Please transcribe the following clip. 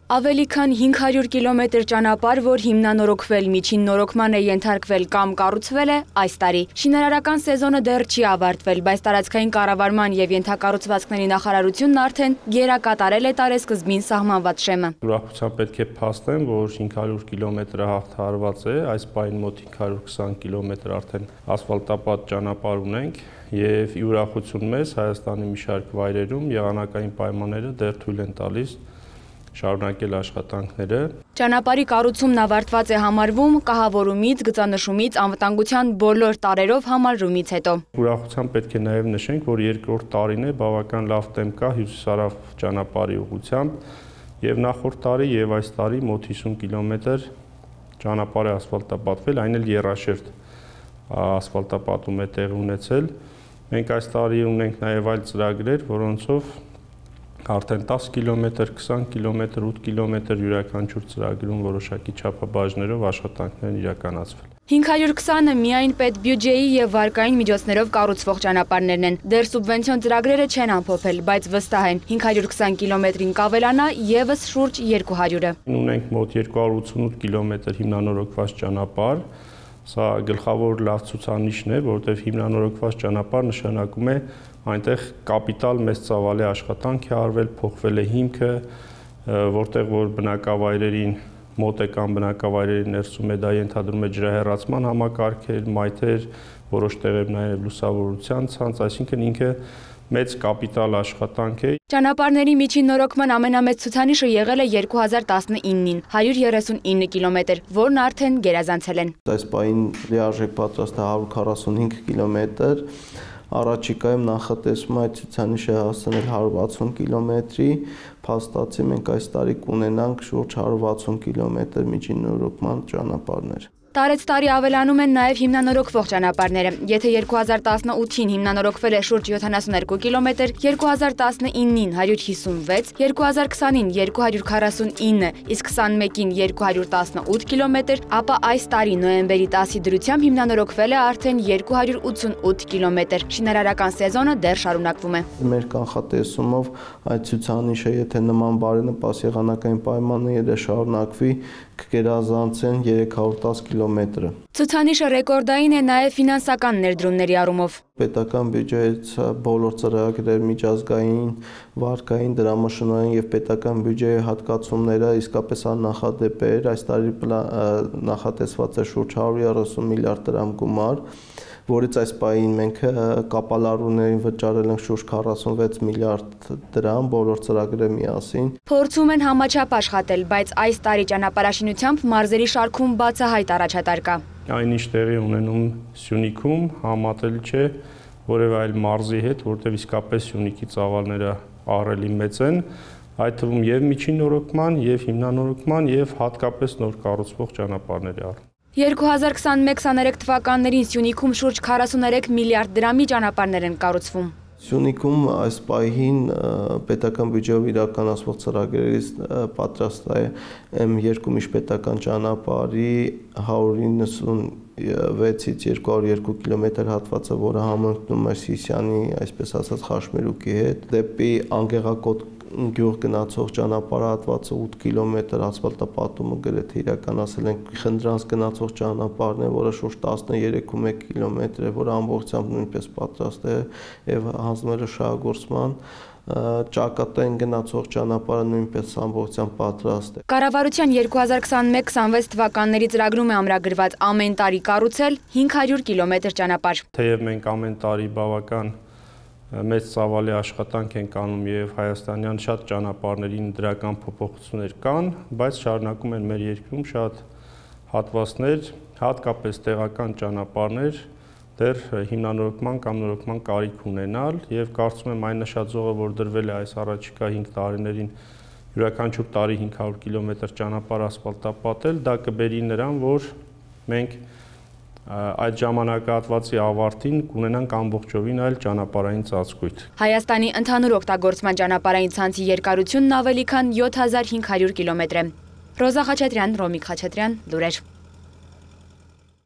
Ավելի քան 500 կիլոմետր ճանապարհ, որ հիմնանորոգվել, միջին նորոգման է ենթարկվել կամ կառուցվել է այս տարի։ Շինարարական սեզոնը դեռ չի ավարտվել, բայց տարածքային կառավարման եւ ենթակառուցվածքների նախարարությունն արդեն գերակատարել է տարեսկզբին սահմանված շեմը։ Ուրախությամբ պետք է փաստեմ, որ 500 կիլոմետրը հաղթահարված է, այս պահին մոտ 520 կիլոմետր արդեն ասֆալտապատ ճանապարհ ունենք եւ ի ուրախություն մեզ Հայաստանի մի շարք վայրերում եղանակային պայմանները դեռ թույլ են տալիս շարունակել աշխատանքները։ Ճանապարհի կառուցումն ավարտված է համարվում կահավորումից, գծանշումից, անվտանգության բոլոր տարերով համալրումից հետո։ Ուրախությամբ պետք է նաև նշենք, որ երկրորդ տարին է բավական լավ տեմպ կա հյուսիսարավ ճանապարհի ուղղությամբ եւ նախորդ տարի եւ այս տարի մոտ 50 կիլոմետր ճանապարհ է ասֆալտապատվել, այն էլ եռաշերտ ասֆալտապատում է տեղի ունեցել։ Մենք այս տարի ունենք նաև այլ ծրագրեր, որոնցով արդեն 10 կիլոմետր, 20 կիլոմետր, 8 կիլոմետր յուրաքանչյուր ծրագրում որոշակի չափաբաժներով աշխատանքներ են իրականացվել։ 520-ը միայն պետբյուջեի եւ վարկային միջոցներով կառուցվող ճանապարհներն են։ Դեռ սուբվենցիոն ծրագրերը չեն ամփոփել, բայց վստահ են 520 կիլոմետրին կավելանա եւս շուրջ 200-ը։ Ունենք մոտ 288 կիլոմետր հիմնանորոգված ճանապարհ։ Սա գլխավոր լավ ցուցանիշն է, որովհետև հիմնանորոգված ճանապարհ նշանակում է այնտեղ կապիտալ մեծ ծավալի աշխատանք է արվել, փոխվել է հիմքը, որտեղ որ բնակավայրերին մոտ է կամ բնակավայրերի ներսում է դա ենթադրում է ջրահեռացման համակարգեր, մայթեր, որոշ տեղեր նաև լուսավորության ցանց, այսինքն ինքը մեծ կապիտալ աշխատանք է։ Ճանապարհների միջին նորոգման ամենամեծ ցուցանիշը եղել է 2019-ին 139 կիլոմետր, որն արդեն գերազանցել են։ Այս պահին լիարժեք պատրաստ է 145 կիլոմետր, առաջիկայում նախատեսվում է այդ ցուցանիշը հասնել 160 կիլոմետրի, փաստացի մենք այս տարի կունենանք շուրջ 160 կիլոմետր միջին նորոգման ճանապարհներ։ Տարեց տարի ավելանում են նաև հիմնանորոգվող ճանապարհները։ Եթե 2018-ին հիմնանորոգվել է շուրջ 72 կիլոմետր, 2019-ին 156, 2020-ին 249, իսկ 21-ին 218 կիլոմետր, ապա այս տարի նոյեմբերի 10-ի դրությամբ հիմնանորոգվել է արդեն 288 կիլոմետր։ Շինարարական սեզոնը դեռ շարունակվում է։ Մեր կանխատեսումով այդ ցուցանիշը, եթե նման բարենպաստ եղանակային պայմանները շարունակվի, կգերազանցեն 310 կիլոմետրը։ Ցուցանիշը ռեկորդային է նաև ֆինանսական ներդրումների առումով։ Պետական բյուջեից բոլոր ծրագրեր, միջազգային, վարկային, դրամաշնորհային եւ պետական բյուջեի հատկացումները իսկապես աննախադեպ էր։ Այս տարի նախատեսված է շուրջ 130 միլիարդ դրամ գումար, որից այս պահին մենք կապալառուներին վճարել ենք շուրջ 46 միլիարդ դրամ բոլոր ծրագրերը միասին։ Փորձում են համաչափ աշխատել, բայց այս տարի ճանապարհաշինությամբ մարզերի շարքում բացահայտ առաջատար կա։ Այնինչ տեղի ունենում Սյունիքում համատել չէ որևէ այլ մարզի հետ, որտեղ իսկապես Սյունիքի ծավալները ահռելի մեծ են, այդ թվում եւ միջին նորոգման, եւ հիմնանորոգման, եւ հատկապես նոր կառուցվող ճանապարհների առումով։ 2021-23 թվականներին Սյունիքում շուրջ 43 միլիարդ դրամի ճանապարհներ են կառուցվում։ Սյունիքում այս պահին պետական բյուջեով իրականացվող ծրագրերից պատրաստ է M2 միջպետական ճանապարհի 196-ից 202 կիլոմետր հատվածը, որը համընկնում է Սիսիանի, այսպես ասած, խաշմերուկի հետ, դեպի Անգեղակոտ գյուղ գնացող ճանապարհատվածը 8 կիլոմետր ասֆալտապատումը գրեթե իրականացել ենք։ Խնդրանց գնացող ճանապարհն է, որը շուրջ 13.1 կիլոմետր է, որը ամբողջությամբ նույնպես պատրաստ է եւ հանձնել է շահագործման։ Ճակատային գնացող ճանապարհը նույնպես ամբողջությամբ պատրաստ է։ Կառավարության 2021-26 թվականների ծրագրում է ամրագրված ամեն տարի կառուցել 500 կիլոմետր ճանապարհ։ Թեև մենք ամեն տարի բավական մեծ ծավալի աշխատանք ենք անում եւ հայաստանյան շատ ճանապարհներին դրական փոփոխություններ կան, բայց շարունակում են մեր երկրում շատ հատվածներ, հատկապես տեղական ճանապարհներ դեռ հիմնանորոգման կամ նորոգման կարիք ունենալ եւ կարծում եմ այն նշաձողը, որ դրվել է այս առաջիկա 5 տարիներին յուրաքանչյուր տարի 500 կիլոմետր ճանապարհ ասֆալտապատել, դա կբերի նրան, որ մենք այդ ժամանակահատվածի ավարտին կունենանք ամբողջովին այլ ճանապարհային ծածկույթ։ Հայաստանի ընդհանուր օգտագործման ճանապարհային ցանցի երկարությունն ավելի քան 7500 կիլոմետր է։ Ռոզա Խաչատրյան, Ռոմիկ Խաչատրյան, լուրեր։